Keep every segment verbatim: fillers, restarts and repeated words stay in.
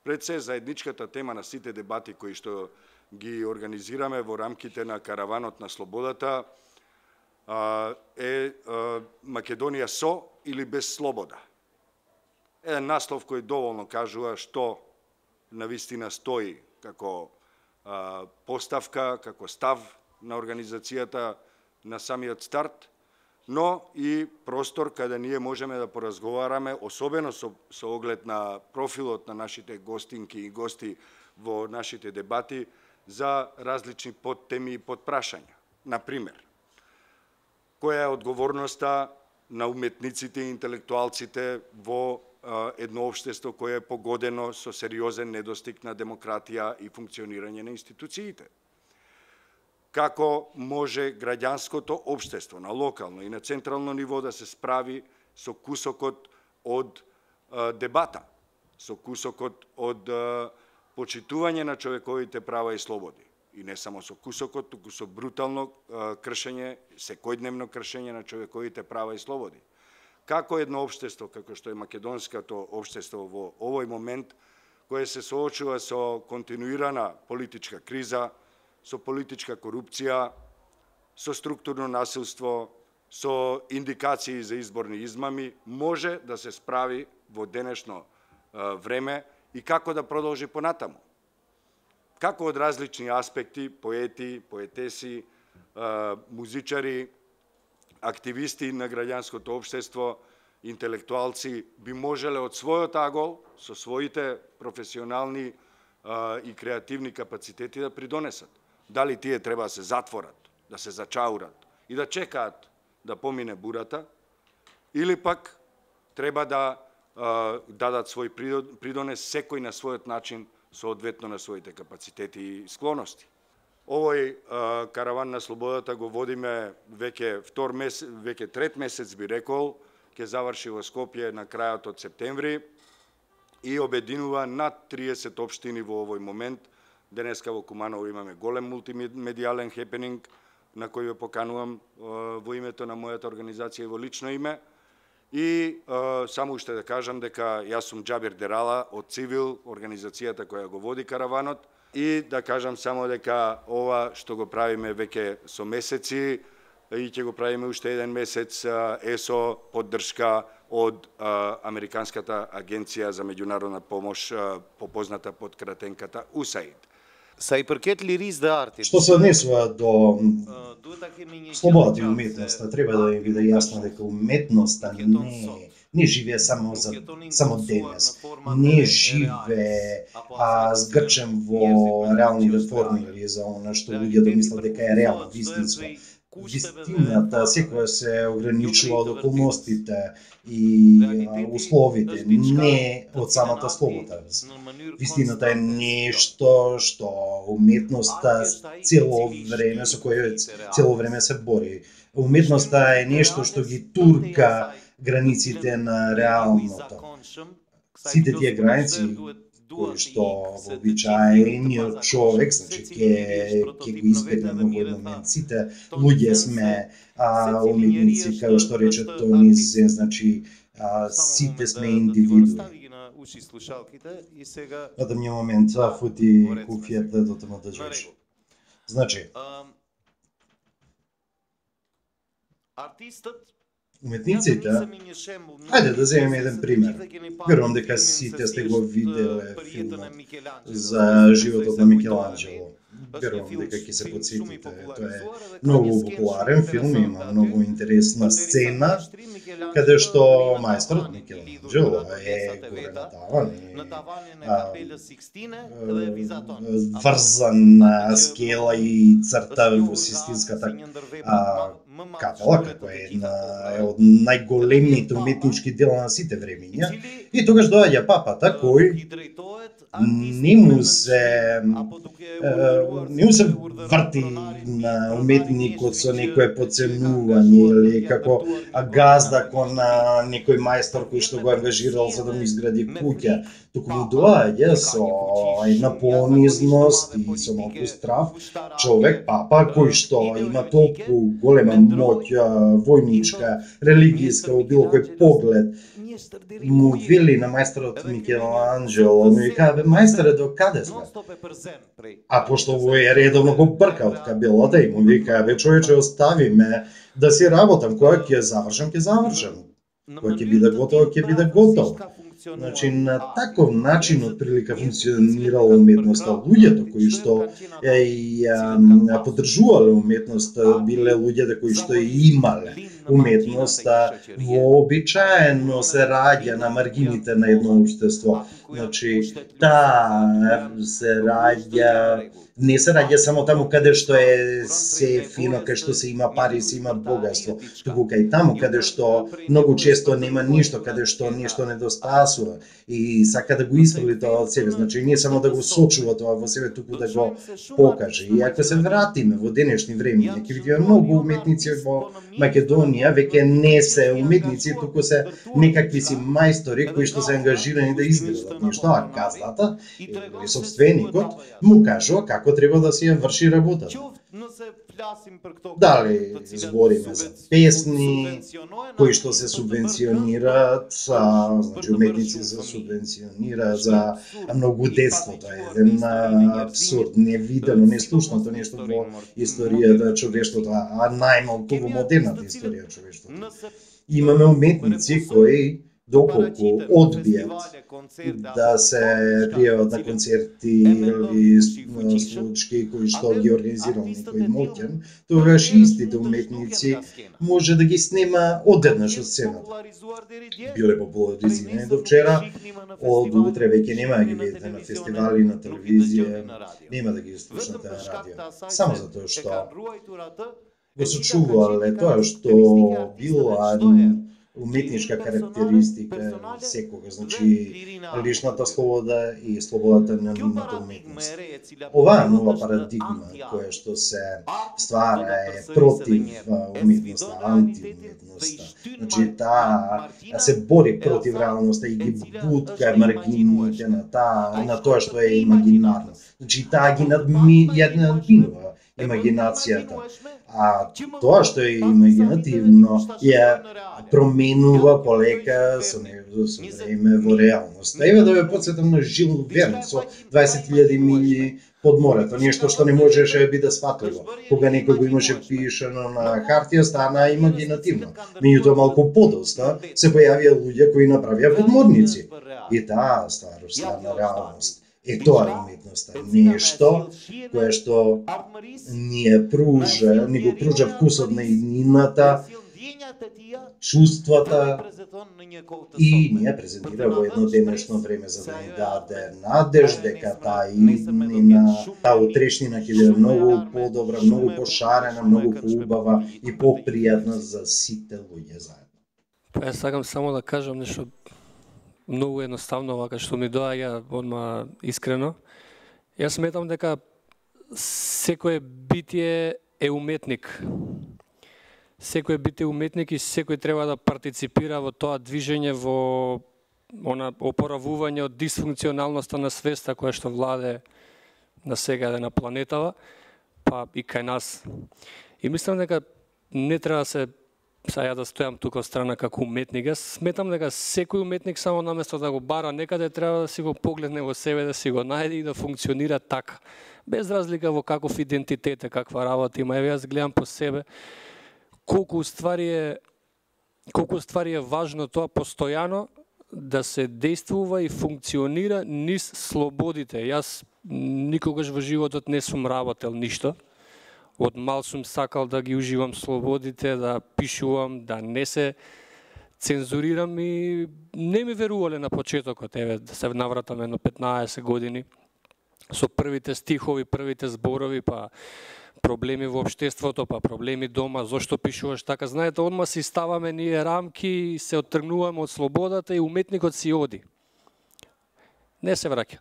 Пред се, заедничката тема на сите дебати кои што ги организираме во рамките на Караванот на слободата е Македонија со или без слобода. Еден наслов кој доволно кажува што навистина стои како поставка, како став на организацијата на самиот старт, но и простор каде ние можеме да поразговараме, особено со, со оглед на профилот на нашите гостинки и гости во нашите дебати, за различни подтеми и подпрашања. Например, која е одговорноста на уметниците и интелектуалците во едно општество кое е погодено со сериозен недостиг на демократија и функционирање на институциите? Како може граѓанското општество на локално и на централно ниво да се справи со кусокот од дебата, со кусокот од почитување на човековите права и слободи? И не само со кусокот, туку со брутално кршење, секојдневно кршење на човековите права и слободи. Како едно општество, како што е македонското општество во овој момент, кое се соочува со континуирана политичка криза, со политичка корупција, со структурно насилство, со индикации за изборни измами, може да се справи во денешно време и како да продолжи понатаму? Како од различни аспекти, поети, поетеси, музичари, активисти на граѓанското општество, интелектуалци би можеле од својот агол, со своите професионални и креативни капацитети да придонесат? Дали тие треба да се затворат, да се зачаурат и да чекаат да помине бурата, или пак треба да дадат свој придонес секој на својот начин, соодветно на своите капацитети и склоности. Овој караван на слободата го водиме веќе втор месец, веќе трет месец би рекол, ќе заврши во Скопје на крајот од септември и обединува над триесет општини во овој момент. Денеска во Куманово имаме голем мултимедијален хепенинг на кој ве поканувам во името на мојата организација и во лично име. И е, само уште да кажам дека јас сум Џабир Дерала од Цивил, организацијата која го води караванот, и да кажам само дека ова што го правиме веќе со месеци и ќе го правиме уште еден месец е со поддршка од а, Американската агенција за меѓународна помош, а, попозната под кратенката У С А И Д. Sa i përket lirisë dhe artit. Што се однесува до слободата и уметноста, треба да им биде јасно дека уметноста не не живее само за само денес. Не живее а, сгрчен во реалните форми или за она што луѓето мислат дека е реално, вистинско. Вистината секоја се ограничува од околностите и а, условите, не од самата слобода. Вистината е нешто што уметноста цело време со кое цело време се бори. Уметноста е нешто што ги турка границите на реалното. Сите тие граници кои што вообичаениот човек, значи ќе ќе го избегнеме во овој момент. Сите луѓе сме а, уметници, како што рече Тони Зе, значи а, сите сме индивидуи. Ада ми момент, а фути куфијата до тоа да жеш. Значи, уметниците, ајде да земеме еден пример. Верувам дека сите сте го виделе филмот за животот на Микеланџело. Верувам дека ќе се потсетите. Тоа е многу популарен филм, има многу интересна сцена, каде што мајсторот Микеланџело е горе надаван и врзан на скела и црта во Систинската капела, како е една од најголемите уметнички дела на сите времиња. И тогаш доаѓа папата кој не му се не му се врти на уметникот со некое поценување или како газда кон некој мајстор кој што го ангажирал за да му изгради куќа, туку му доаѓа со една понизност и со малку страв човек, папа, кој што има толку голема моќ војничка, религијска, во било кој поглед, му вели на мајсторот Микеланџело, му вика, бе мајсторе, до каде сме? А пошто овој редовно го брка од кабелата и му вика, бе човече, остави ме да си работам, кога ќе завршам, ќе завршам. Кога ќе биде готово, ќе биде готово. Значи, на таков начин од прилика функционирала уметноста. Луѓето кои што ја поддржувале уметноста биле луѓето кои што имале уметноста, вообичаено се раѓа на маргините на едно општество. Значи, таа се раѓа, не се раѓа само таму каде што е се фино, каде што се има пари, се има богатство, туку кај таму каде што многу често нема ништо, каде што нешто недостасува и сака да го испрли тоа од себе. Значи, не само да го сочува тоа во себе, туку да го покаже. И ако се вратиме во денешни времиња, ќе видиме многу уметници во Македонија веќе не се уметници, туку се некакви си мајстори кои што се ангажирани да изградат нешто, а газдата или собственикот му кажува како треба да си ја врши работата. Дали збориме за песни кои што се субвенционираат, а, значи уметници се субвенционираат за многу детство, тоа е еден абсурд, невидено, неслушното нешто во историјата човештвото, а најмалку во модерната историја човештвото. Имаме уметници кои доколку одбијат да се пријават на концерти или случаи кои што ги организирал некој моќен, тогаш истите уметници може да ги снема одеднаш од сцената. Биле популаризирани до вчера, од утре веќе нема да ги видите на фестивали, на телевизија, нема да ги слушате на радио. Само затоа што го сочувале тоа што била уметничка карактеристика секогаш, значи личната слобода и слободата на нивната уметност. Оваа нова парадигма која што се ствара е против уметноста, антиуметноста. Значи таа се бори против реалноста и ги бутка маргините на таа, на тоа што е имагинарно. Значи таа ги надми, ја надминува имагинацијата. А тоа што е имагинативно ја променува полека со време во реалност. Еве да ве потсетам на Жил Верн со дваесет илјади милји под морето, нешто што не можеше да биде сватливо. Кога некој го имаше пишано на хартија, стана имагинативно. Меѓутоа малку подоста се појавија луѓе кои направија подморници. И таа ствар стана реалност. Е тоа е уметноста, нешто кое што ни е пружа, ни го пружа вкусот на иднината, чувствата и ни ја презентира во едно денешно време за да ни даде надеж дека таа иднина, таа утрешнина ќе биде многу подобра, многу пошарена, многу поубава и попријатна за сите луѓе заедно. Па јас сакам само да кажам нешто многу едноставно, вака што ми доаѓа одма искрено. Јас сметам дека секое битие е уметник. Секој битие уметник и секој треба да партиципира во тоа движење, во она опоравување од дисфункционалноста на свеста која што владе на сега на планетава, па и кај нас. И мислам дека не треба да се Са ја да стојам тука од страна како уметник. Јас сметам дека секој уметник само наместо да го бара некаде треба да си го погледне во себе, да си го најде и да функционира така. Без разлика во каков идентитет е, каква работа има. Еве јас гледам по себе колку уствари е колку уствари е важно тоа постојано да се действува и функционира низ слободите. Јас никогаш во животот не сум работел ништо. Од мал сум сакал да ги уживам слободите, да пишувам, да не се цензурирам и не ми верувале на почетокот, еве да се навратам едно петнаесет години со првите стихови, првите зборови, па проблеми во општеството, па проблеми дома, зошто пишуваш така. Знаете, одма си ставаме ние рамки и се оттргнуваме од слободата и уметникот си оди. Не се враќа.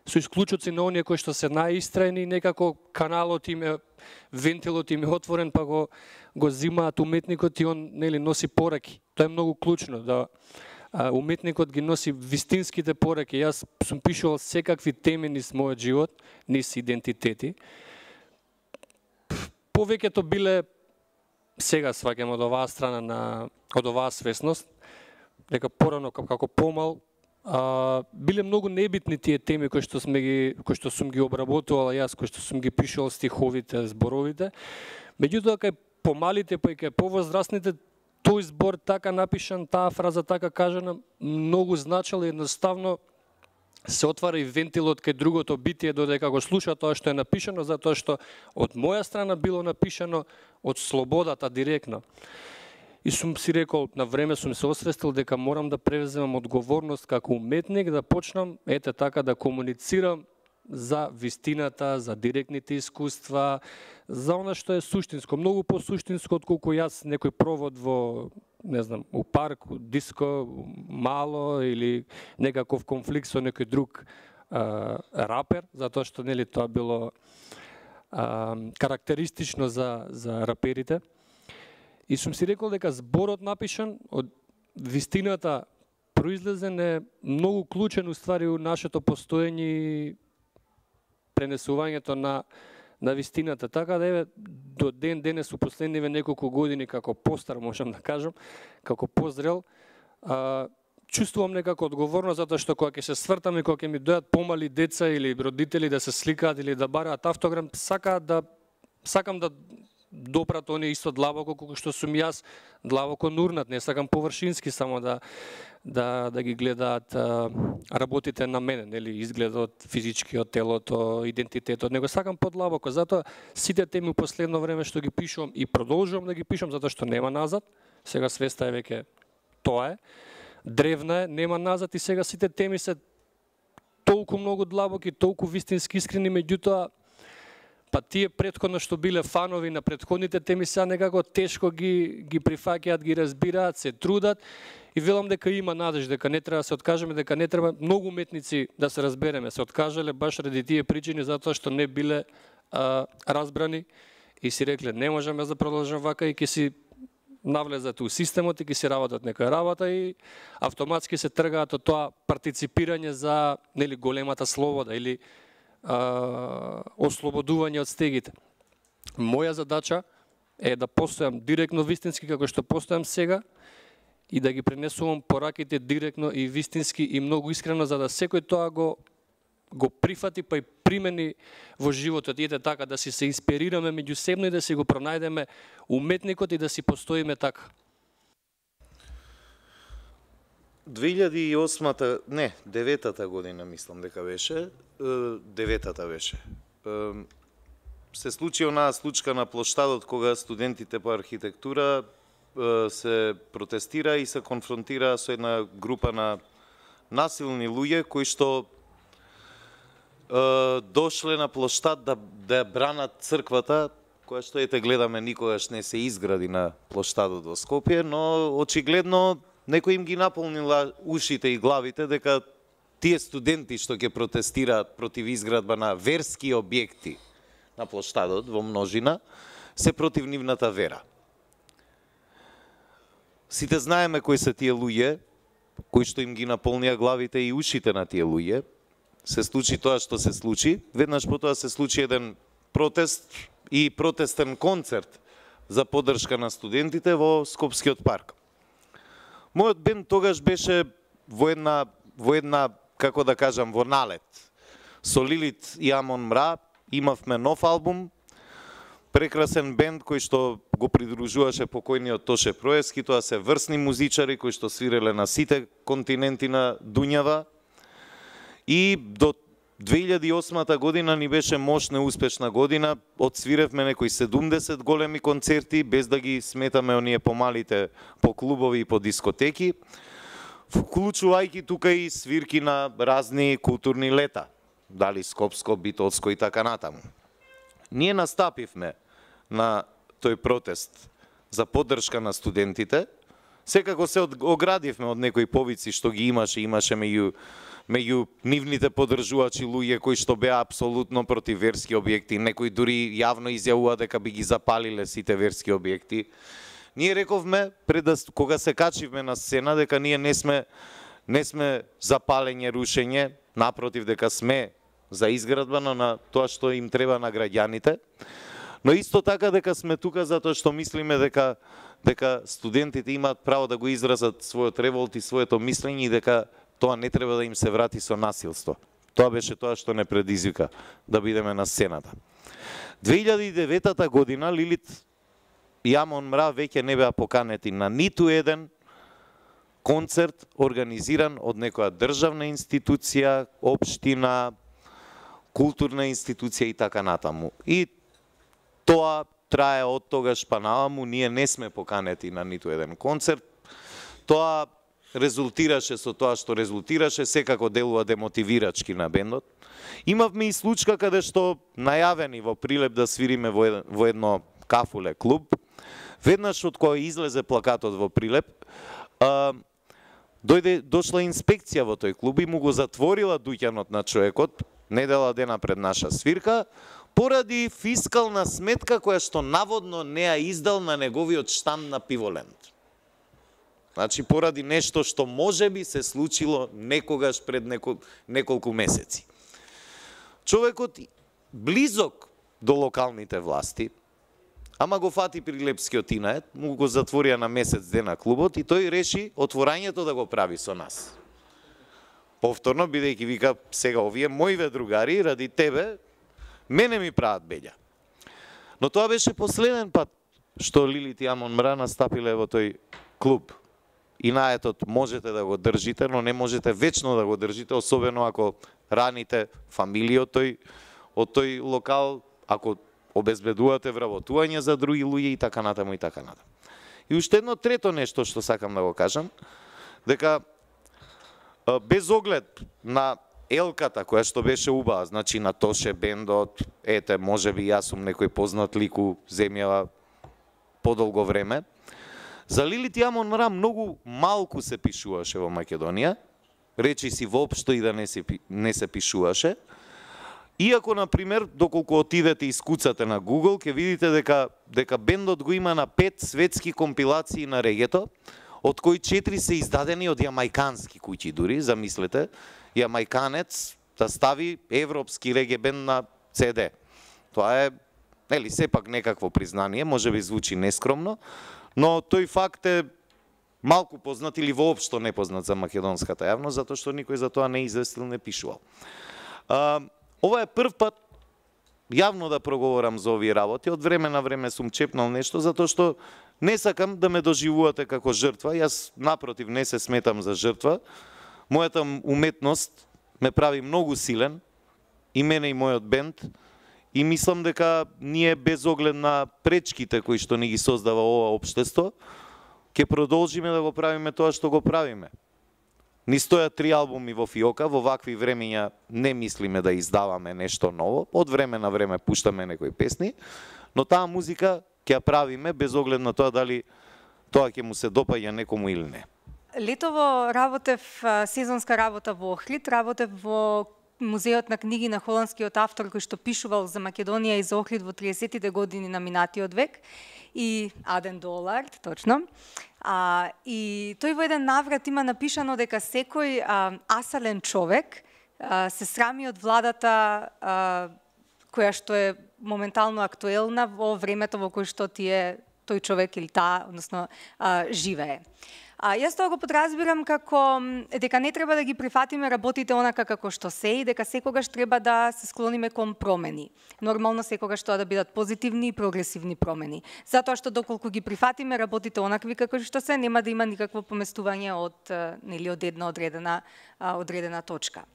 Со исклучоци на оние кои што се најистрајни, некако каналот им е, вентилот им е отворен, па го, го зимаат уметникот и он нели носи пораки. Тоа е многу клучно, да а, уметникот ги носи вистинските пораки. Јас сум пишувал секакви теми низ мојот живот, низ идентитети. Повеќето биле, сега сваќам од оваа страна, на, од оваа свесност, дека порано како помал, А, биле многу небитни тие теми кои што сме ги кои што сум ги обработувал јас, кои што сум ги пишал стиховите, зборовите. Меѓутоа кај помалите, па и кај повозрастните, тој збор така напишан, таа фраза така кажана, многу значила, едноставно се отвара и вентилот кај другото битие додека го слуша тоа што е напишано, затоа што од моја страна било напишано од слободата директно. И сум си рекол, на време сум се освестил дека морам да превземам одговорност како уметник, да почнам ете така да комуницирам за вистината, за директните искуства, за она што е суштинско, многу по-суштинско отколку јас некој провод во, не знам, у парк, у диско, мало или некаков конфликт со некој друг а, рапер, затоа што нели тоа било а, карактеристично за за раперите. И сум си рекол дека зборот напишан од вистината произлезен е многу клучен уствари у нашето постоење и пренесувањето на на вистината. Така да еве до ден денес у последниве неколку години како постар можам да кажам, како позрел, а, чувствувам некако одговорност затоа што кога ќе се свртам и кога ќе ми дојдат помали деца или родители да се сликаат или да бараат автограм, сакаат да сакам да допрат они исто длабоко колку што сум јас, длабоко нурнат, не сакам површински само да да да ги гледаат а, работите на мене, нели, изгледот, физичкиот, телото, идентитетот, него сакам подлабоко, затоа сите теми у последно време што ги пишувам и продолжувам да ги пишувам затоа што нема назад, сега свеста е веќе тоа е, древна е, нема назад и сега сите теми се толку многу длабоки, толку вистински искрени, меѓутоа па тие претходно што биле фанови на претходните теми сега некако тешко ги ги прифаќаат, ги разбираат, се трудат и велам дека има надеж, дека не треба да се откажеме, дека не треба многу уметници да се разбереме, се откажале баш ради тие причини затоа што не биле а, разбрани и си рекле не можеме да продолжиме вака и ќе си навлезат у системот и ќе си работат некоја работа и автоматски се тргаат од тоа партиципирање за нели големата слобода или Uh, ослободување од стегите. Моја задача е да постојам директно вистински како што постојам сега и да ги пренесувам пораките директно и вистински и многу искрено за да секој тоа го го прифати па и примени во животот и ете така да си се инспирираме меѓусебно и да си го пронајдеме уметникот и да си постоиме така. две илјади и осма-та, не, деветата година мислам дека беше, деветата беше. Се случи онаа случка на плоштадот кога студентите по архитектура се протестира и се конфронтира со една група на насилни луѓе кои што дошле на плоштад да да бранат црквата, која што ете гледаме никогаш не се изгради на плоштадот во Скопје, но очигледно некој им ги наполнила ушите и главите дека тие студенти што ќе протестираат против изградба на верски објекти на плоштадот во множина, се против нивната вера. Сите знаеме кои се тие луѓе, кои што им ги наполнија главите и ушите на тие луѓе. Се случи тоа што се случи, веднаш потоа се случи еден протест и протестен концерт за поддршка на студентите во Скопскиот парк. Мојот бенд тогаш беше во една, во една, како да кажам, во налет. Со Лилит и Амон Мра имавме нов албум, прекрасен бенд кој што го придружуваше покојниот Тоше Проески, тоа се врсни музичари кои што свиреле на сите континенти на Дуњава. И до две илјади и осма година ни беше мощна и успешна година, одсвиревме некои седумдесет големи концерти, без да ги сметаме оние помалите по клубови и по дискотеки, вклучувајќи тука и свирки на разни културни лета, дали Скопско, Битолско и така натаму. Ние настапивме на тој протест за поддршка на студентите, секако се оградивме од некои повици што ги имаше, имаше меѓу меѓу нивните поддржувачи луѓе кои што беа апсолутно против верски објекти, некои дури јавно изјавува дека би ги запалиле сите верски објекти. Ние рековме пред да кога се качивме на сцена дека ние не сме не сме за палење, рушење, напротив дека сме за изградба на тоа што им треба на граѓаните. Но исто така дека сме тука затоа што мислиме дека дека студентите имаат право да го изразат својот револт и своето мислење и дека тоа не треба да им се врати со насилство. Тоа беше тоа што не предизвика да бидеме на сцената. две илјади и деветата година Лилит и Амон Мра веќе не беа поканети на ниту еден концерт организиран од некоја државна институција, општина, културна институција и така натаму. И тоа трае од тогаш па наваму, ние не сме поканети на ниту еден концерт. Тоа резултираше со тоа што резултираше, секако делува демотивирачки на бендот. Имавме и случка каде што најавени во Прилеп да свириме во едно кафуле клуб. Веднаш од кога излезе плакатот во Прилеп, а, дојде, дошла инспекција во тој клуб и му го затворила дуќанот на човекот, недела дена пред наша свирка, поради фискална сметка која што наводно не ја издал на неговиот штанд на Пиволенд. Значи, поради нешто што можеби се случило некогаш пред некол, неколку месеци. Човекот близок до локалните власти, ама го фати прилепскиот инает, му го затворија на месец дена клубот и тој реши отворањето да го прави со нас. Повторно, бидејќи вика, сега овие моиве другари, ради тебе, мене ми прават беѓа. Но тоа беше последен пат што Лилит и Амон Мра настапиле во тој клуб. Инаетот можете да го држите, но не можете вечно да го држите, особено ако раните фамилија од тој, од тој локал, ако обезбедувате вработување за други луѓе и така натаму и така натаму. И уште едно трето нешто што сакам да го кажам, дека без оглед на елката која што беше убава, значи на Тоше бендот, ете, можеби јас сум некој познат лик у земјава подолго време, за Лилит и Амон Мра многу малку се пишуваше во Македонија, речи си воопшто и да не се, не се пишуваше. Иако, например, доколку отидете и скуцате на Google, ќе видите дека, дека бендот го има на пет светски компилации на регето, од кои четири се издадени од јамајкански куќи дури, замислете, јамајканец да стави европски реге бенд на Це Де. Тоа е, нели, сепак некакво признание, може би звучи нескромно, но тој факт е малку познат или воопшто непознат за македонската јавност, затоа што никој за тоа не известил, не пишувал. А, ова е прв пат јавно да проговорам за овие работи. Од време на време сум чепнал нешто, затоа што не сакам да ме доживувате како жртва. Јас, напротив, не се сметам за жртва. Мојата уметност ме прави многу силен, и мене и мојот бенд, и мислам дека ние без оглед на пречките кои што ни ги создава ова општество, ќе продолжиме да го правиме тоа што го правиме. Ни стојат три албуми во фиока, во вакви времења не мислиме да издаваме нешто ново, од време на време пуштаме некои песни, но таа музика ќе ја правиме без оглед на тоа дали тоа ќе му се допаѓа некому или не. Летово работев сезонска работа во Охрид, работев во Музеот на книги на холандскиот автор кој што пишувал за Македонија и за Охрид во триесеттите години на минатиот век, и Аден Долард, точно. А, и тој во еден наврат има напишано дека секој а, асален човек а, се срами од владата а, која што е моментално актуелна во времето во кој што тие тој човек или таа, односно, а, живее. А, јас тоа го подразбирам како дека не треба да ги прифатиме работите онака како што се и дека секогаш треба да се склониме кон промени. Нормално секогаш тоа да бидат позитивни и прогресивни промени. Затоа што доколку ги прифатиме работите онакви како што се, нема да има никакво поместување од нели од една одредена одредена точка.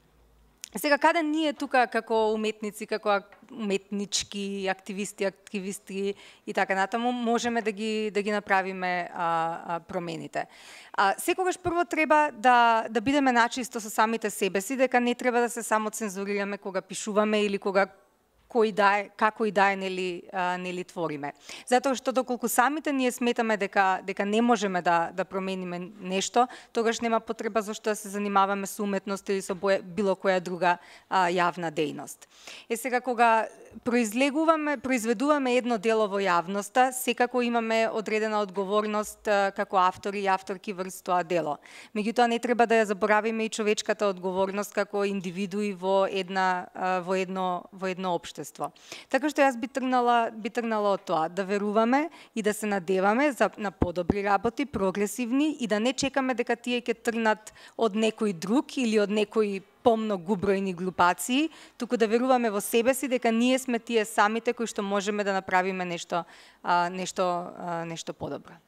Сега, каде ние тука како уметници, како уметнички активисти, активисти и така натаму, можеме да ги да ги направиме а, а, промените. А, секогаш прво треба да да бидеме начисто со самите себе си, дека не треба да се само цензурираме кога пишуваме или кога кој да е, како и да е, нели, а, нели твориме. Затоа што доколку самите ние сметаме дека дека не можеме да да промениме нешто, тогаш нема потреба зашто да се занимаваме со уметност или со било која друга а, јавна дејност. Е сега кога произлегуваме, произведуваме едно дело во јавноста, секако имаме одредена одговорност а, како автори и авторки врз тоа дело. Меѓутоа не треба да ја заборавиме и човечката одговорност како индивидуи во една а, во едно во едно општество. општество. Така што јас би тргнала, би тргнала од тоа, да веруваме и да се надеваме за, на подобри работи, прогресивни, и да не чекаме дека тие ќе тргнат од некој друг или од некои помногу бројни глупации, туку да веруваме во себе си дека ние сме тие самите кои што можеме да направиме нешто, а, нешто, а, нешто подобро.